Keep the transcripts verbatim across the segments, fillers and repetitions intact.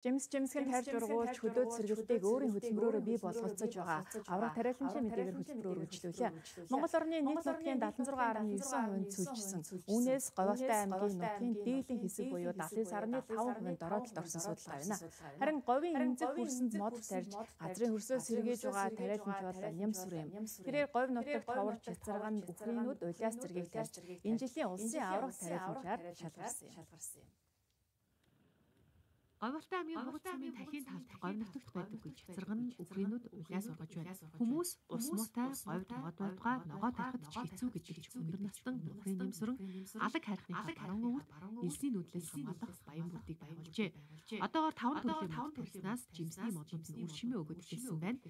Жимс Жимсгийн тарж ургуулж хөдөөд сэргэлтийг өөрийн хөдөлмөрөөр бий болгоцож байгаа аврах тариаланчийн мэдээгээр хөтөлбөр үргэлжлүүлээ. Монгол орны нийт нутгийн даатан зургаан гаруй девять хувинд сүлжсэн. Үүнээс Говьалтай аймгийн нутгийн дээдлийн хэсэг буюу даатан сарны таван хувинд дороотлолт орсон судалгаа байна. Харин говийн эмзэг хөрсөнд мод тарьж газрын хөрсөө сэргээж байгаа тариаланч бол Нямсүр юм. Тэрээр говь нутагт товарч цацарган бүхрийнүүд улиас зэргийг тарьж энэ жилийн улсын аврах тариаланчаар шалгарсан юм. Говьалтай аймгийн Бугц сумын тархийн талд говь нутагт байдаггүй цацарган үхрийнүүд улиас ургаж байна. Хүмүүс ус муутай говьд мод байдгаа ногоо тарихад ч хэцүү гэдэг ч өндөр настан бүхрийн нэмсүрэн алаг харихны баруун өвөрт элсний нүдлээс хамгаалах баян бүрдийг байгуулжээ. Одоогоор таван төрлийн мод тарьснаас жимсний модууд нь үр шимээ өгöd эхэлсэн байна.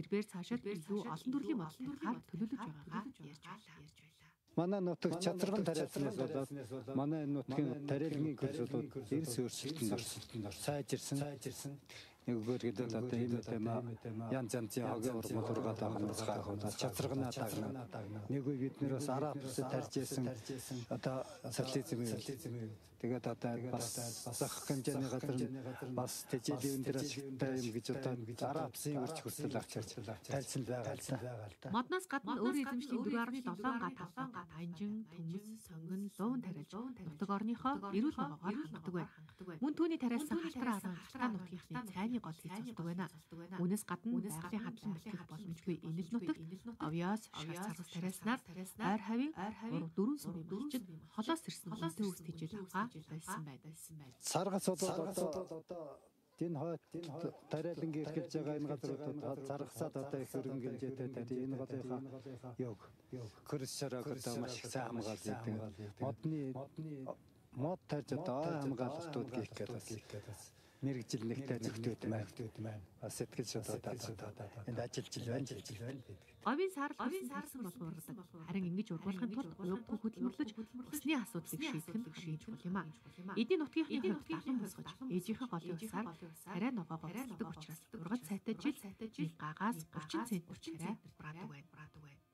Тэрээр цаашаад илүү олон төрлийн мод тарихаар төлөвлөж байгаагаа ярьж байлаа. Манай нутаг чадраган тариалснаас болоод манай нутгийн тариалгын курсууд эрс өөрчлөлтөнд орсон. Сайжирсан. Нэг өгөр гэдэг одоо ийм юм янз янзын хогийн урмал ургаад байгаас гайхуулаад чадрагнаа дагна. Нэг үе бид нэр бас араб бүсэд тарьж исэн одоо социализм юм. Тэгээд одоо бас зах хэмжээний газар бас тэжээлийн өндөр ашигтай юм гэж одоо араб бүсийн үрч хүртэл авчирч тарьсан байгаа л да. Модноос гадна өөрийн эзэмшлийн дөрвөн га таван га танжин, төмс, сонгон, луун тариалж нутаг орныхоо эрүүл ногоогоор хангадаг байна. Мөн түүний тариалсан халтар аран халтар нутгийнхны цайны гол хийцэлдэг байна. Үүнээс гадна байгалийн хадлан бэлтгэх боломжгүй энэл нутагт овёос, шар царгас тариалснаар ойр хавийн дөрвөн сумын малчид холоос ирсэн үнэтэй үст хийж аваа байсан байна. Саргас одоо энэ хойд тариалангийн эрхэлж байгаа энэ газруудад заргасаад одоо их хөрөнгө хэмжээтэй тарьж энэ голынхаа ёг хөрс шараг одоо маш их сайн хамгаалж байдаг. Модны мод тарьж одоо хамгаалалтууд хийх гэдэг бас мэрэгжил нэгтэй зөвхөд байна. Бас сэтгэл судлаад энд ажиллаж байна, ажиллаж байна. Говийн сар говийн сарсан болгон ургадаг. Харин ингэж ургуулгын тулд уйггүй хөдөлмөрлөж усны асуудлыг шийдэх нь шийдэх юм аа. Эдийн нутгийн хувьд далан босгож ээжийнхээ голын усаар арай ногоогоо ургадаг учраас ургац сайтай жил гагаас гурван цент хүрч арай брадаг байна.